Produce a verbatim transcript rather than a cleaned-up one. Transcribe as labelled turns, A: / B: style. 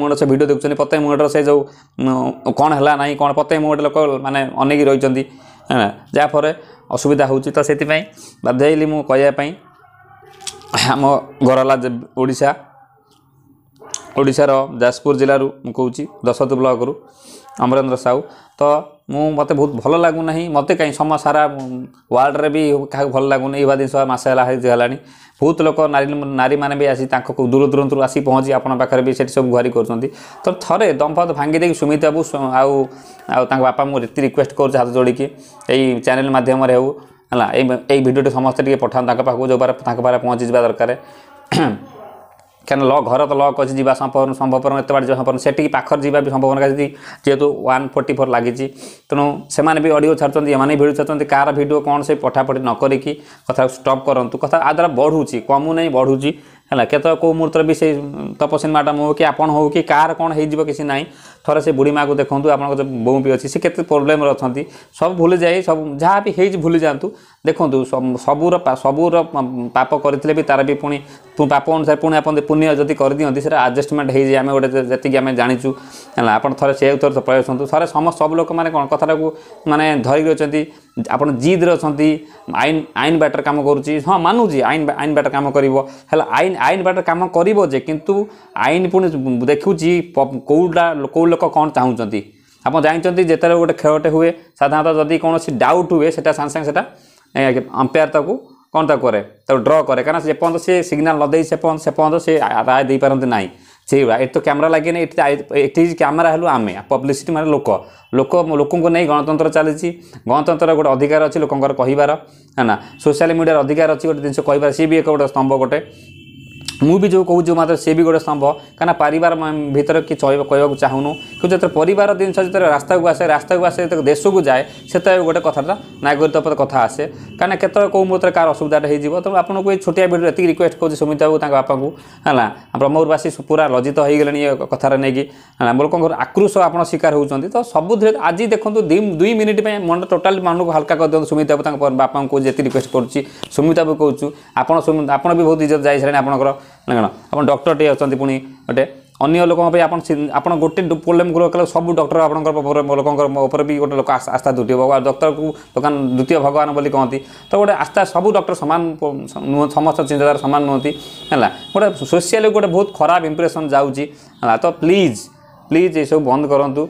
A: ମୁଣ୍ଡ ସେ ଭିଡ଼ିଓ ଦେଖୁଛନ୍ତି, ପ୍ରତ୍ୟେକ ମୁହୂର୍ତ୍ତରେ ସେ ଯେଉଁ କ'ଣ ହେଲା ନାହିଁ କ'ଣ, ପ୍ରତ୍ୟେକ ମୁହୂର୍ତ୍ତ ଲୋକ ମାନେ ଅନେଇକି ରହିଛନ୍ତି, ଯାହାଫଳରେ ଅସୁବିଧା ହେଉଛି। ତ ସେଥିପାଇଁ ବାଧ୍ୟ ହେଇଲି ମୁଁ କହିବା ପାଇଁ। ଆମ ଘର ହେଲା ଓଡ଼ିଶା, ଓଡ଼ିଶାର ଯାଜପୁର ଜିଲ୍ଲାରୁ ମୁଁ କହୁଛି, ଦଶରଥ ବ୍ଲକରୁ ଅମରେନ୍ଦ୍ର ସାହୁ। ତ ମୁଁ ମୋତେ ବହୁତ ଭଲ ଲାଗୁନାହିଁ, ମୋତେ କାହିଁ ସମ ସାରା ୱାର୍ଲଡ଼ରେ ବି କାହାକୁ ଭଲ ଲାଗୁନି। ଏଇଭଳିଆ ଜିନିଷ ମାସେ ହେଲା ହେଲାଣି, ବହୁତ ଲୋକ ନାରୀ ନାରୀମାନେ ବି ଆସି ତାଙ୍କ ଦୂର ଦୂରାନ୍ତରୁ ଆସି ପହଞ୍ଚି ଆପଣଙ୍କ ପାଖରେ ବି ସେଠି ସବୁ ଗୁହାରି କରୁଛନ୍ତି। ତ ଥରେ ଦମଫତ ଭାଙ୍ଗି ଦେଇକି ସୁମିତ ବାବୁ ଆଉ ଆଉ ତାଙ୍କ ବାପା, ମୁଁ ଏତେ ରିକ୍ୱେଷ୍ଟ କରୁଛି ହାତ ଯୋଡ଼ିକି, ଏଇ ଚ୍ୟାନେଲ୍ ମାଧ୍ୟମରେ ହେଉ ହେଲା, ଏଇ ଏଇ ଭିଡ଼ିଓଟି ସମସ୍ତେ ଟିକେ ପଠାନ୍ତୁ ତାଙ୍କ ପାଖକୁ, ଯେଉଁ ତାଙ୍କ ପାଖରେ ପହଞ୍ଚିଯିବା ଦରକାର। କାରଣ ଲ ଘର ତ ଲକ୍ ଅଛି, ଯିବା ସମ୍ଭବ ସମ୍ଭବପର, ଏତେ ବାଟ ଯିବା ସମ୍ଭବ, ସେଠିକି ପାଖରେ ଯିବା ବି ସମ୍ଭବ ଯଦି ଯେହେତୁ ୱାନ୍ ଫୋର୍ଟି ଫୋର୍ ଲାଗିଛି। ତେଣୁ ସେମାନେ ବି ଅଡ଼ିଓ ଛାଡ଼ୁଛନ୍ତି, ଏମାନେ ବି ଭିଡ଼ିଓ ଛାଡ଼ୁଛନ୍ତି, କାହାର ଭିଡ଼ିଓ କ'ଣ ସେ ପଠାପଠି ନ କରିକି କଥା ଷ୍ଟପ୍ କରନ୍ତୁ। କଥା ଆ ଦ୍ୱାରା ବଢ଼ୁଛି, କମୁନାହିଁ, ବଢ଼ୁଛି ହେଲା। କେତେବେଳେ କେଉଁ ମୁହୂର୍ତ୍ତରେ ବି ସେଇ ତପସ୍ୱିନୀ ମ୍ୟାଡ଼ାମ୍ ହଉ କି ଆପଣ ହଉ କି କାହାର କ'ଣ ହେଇଯିବ କିଛି ନାହିଁ। ଥରେ ସେ ବୁଢ଼ୀ ମାଆକୁ ଦେଖନ୍ତୁ, ଆପଣଙ୍କ ଯେଉଁ ବୋଉ ବି ଅଛି, ସେ କେତେ ପ୍ରୋବ୍ଲେମ୍ରେ ଅଛନ୍ତି, ସବୁ ଭୁଲି ଯାଇ ସବୁ ଯାହା ବି ହେଇଛି ଭୁଲି ଯାଆନ୍ତୁ। ଦେଖନ୍ତୁ, ସବୁର ସବୁର ପାପ କରିଥିଲେ ବି ତାର ବି ପୁଣି ପାପ ଅନୁସାରେ ପୁଣି ଆପଣ ପୁଣ୍ୟ ଯଦି କରିଦିଅନ୍ତି ସେଇଟା ଆଡ଼ଜଷ୍ଟମେଣ୍ଟ ହେଇଯାଏ, ଆମେ ଗୋଟେ ଯେତିକି ଆମେ ଜାଣିଛୁ ହେଲା। ଆପଣ ଥରେ ସେ ଥରେ ପଳେଇ ଆସନ୍ତୁ ଥରେ। ସମସ୍ତ ସବୁ ଲୋକମାନେ କ'ଣ କଥାଟାକୁ ମାନେ ଧରିକି ଅଛନ୍ତି, ଆପଣ ଜିଦ୍ରେ ଅଛନ୍ତି। ଆଇନ ଆଇନ ବାଟରେ କାମ କରୁଛି, ହଁ ମାନୁଛି, ଆଇନ ଆଇନ ବାଟରେ କାମ କରିବ, ହେଲା ଆଇନ ଆଇନ ବାଟରେ କାମ କରିବ ଯେ, କିନ୍ତୁ ଆଇନ ପୁଣି ଦେଖୁଛି କେଉଁଟା କେଉଁ ଲୋକ କ'ଣ ଚାହୁଁଛନ୍ତି। ଆପଣ ଜାଣିଛନ୍ତି, ଯେତେବେଳେ ଗୋଟେ ଖେଳଟେ ହୁଏ, ସାଧାରଣତଃ ଯଦି କୌଣସି ଡାଉଟ୍ ହୁଏ, ସେଟା ସାଙ୍ଗେ ସାଙ୍ଗେ ସେଟା ଅମ୍ପାୟାର ତାକୁ କ'ଣ ତାକୁ କରେ, ତାକୁ ଡ୍ର କରେ। କାରଣ ଯେପର୍ଯ୍ୟନ୍ତ ସେ ସିଗ୍ନାଲ୍ ନ ଦେଇ ସେପର୍ଯ୍ୟନ୍ତ ସେପର୍ଯ୍ୟନ୍ତ ସେ ରାୟ ଦେଇପାରନ୍ତି ନାହିଁ। ସେଇଭଳିଆ ଏଠି ତ କ୍ୟାମେରା ଲାଗିନି, ଏଠି ଏଠି କ୍ୟାମେରା ହେଲୁ ଆମେ ପବ୍ଲିସିଟି, ମାନେ ଲୋକ ଲୋକ ଲୋକଙ୍କୁ ନେଇ ଗଣତନ୍ତ୍ର ଚାଲିଛି। ଗଣତନ୍ତ୍ରର ଗୋଟେ ଅଧିକାର ଅଛି ଲୋକଙ୍କର କହିବାର, ହେଲା ସୋସିଆଲ ମିଡ଼ିଆର ଅଧିକାର ଅଛି ଗୋଟେ ଜିନିଷ କହିବାର, ସିଏ ବି ଏକ ଗୋଟେ ସ୍ତମ୍ଭ ଗୋଟେ। ମୁଁ ବି ଯେଉଁ କହୁଛି ମାତ୍ର ସିଏ ବି ଗୋଟେ ସ୍ତମ୍ଭ, କାହିଁକିନା ପରିବାର ଭିତରେ କି କହିବାକୁ ଚାହୁଁନୁ, କିନ୍ତୁ ଯେତେବେଳେ ପରିବାର ଜିନିଷ ଯେତେବେଳେ ରାସ୍ତାକୁ ଆସେ, ରାସ୍ତାକୁ ଆସେ ଯେତେବେଳେ ଦେଶକୁ ଯାଏ, ସେତେବେଳେ ଗୋଟେ କଥାଟା ନାଗରିକ ଉପରେ କଥା ଆସେ। କାହିଁକିନା କେତେବେଳେ କେଉଁ ମୁହୂର୍ତ୍ତରେ କାହାର ଅସୁବିଧାଟା ହେଇଯିବ। ତେଣୁ ଆପଣଙ୍କୁ ଏଇ ଛୋଟିଆ ଭିଡ଼ିଓ ଏତିକି ରିକ୍ୱେଷ୍ଟ କରୁଛି, ସୁମିତ ବାବୁ, ତାଙ୍କ ବାପାଙ୍କୁ ହେଲା। ବ୍ରହ୍ମପୁରବାସୀ ପୁରା ଲଜ୍ଜିତ ହେଇଗଲେଣି ଏ କଥାରେ ନେଇକି, ହେଲା ଲୋକଙ୍କର ଆକ୍ରୋଶ ଆପଣ ଶିକାର ହେଉଛନ୍ତି। ତ ସବୁଥିରେ ଆଜି ଦେଖନ୍ତୁ, ଦୁଇ ମିନିଟ୍ ପାଇଁ ମନ ଟୋଟାଲି ମନକୁ ହାଲକା କରିଦିଅନ୍ତୁ। ସୁମିତ ବାବୁ, ତାଙ୍କ ବାପାଙ୍କୁ ଯେତିକି ରିକ୍ୱେଷ୍ଟ କରୁଛି, ସୁମିତ ବାବୁ କହୁଛୁ, ଆପଣ ଆପଣ ବି ବହୁତ ଇଜ୍ଜତ ଯାଇସାରିଲେଣି ଆପଣଙ୍କର, ନା କ'ଣ ଆପଣ ଡକ୍ଟରଟିଏ ଅଛନ୍ତି, ପୁଣି ଗୋଟେ ଅନ୍ୟ ଲୋକଙ୍କ ପାଇଁ ଆପଣ ଆପଣ ଗୋଟେ ପ୍ରୋବ୍ଲେମ୍ କଲେ ସବୁ ଡକ୍ଟର ଆପଣଙ୍କର ଲୋକଙ୍କର ଉପରେ ବି ଗୋଟେ ଲୋକ ଆସ୍ଥା ଦ୍ୱିତୀୟ ଭଗବାନ, ଡକ୍ଟରକୁ ଦୋକାନ ଦ୍ୱିତୀୟ ଭଗବାନ ବୋଲି କହନ୍ତି। ତ ଗୋଟେ ଆସ୍ଥା, ସବୁ ଡକ୍ଟର ସମାନ ନୁହଁ, ସମସ୍ତ ଚିନ୍ତାଧାରା ସମାନ ନୁହନ୍ତି, ହେଲା ଗୋଟେ ସୋସିଆଲି ଗୋଟେ ବହୁତ ଖରାପ ଇମ୍ପ୍ରେସନ୍ ଯାଉଛି ହେଲା। ତ ପ୍ଲିଜ୍ ପ୍ଲିଜ୍ ଏସବୁ ବନ୍ଦ କରନ୍ତୁ।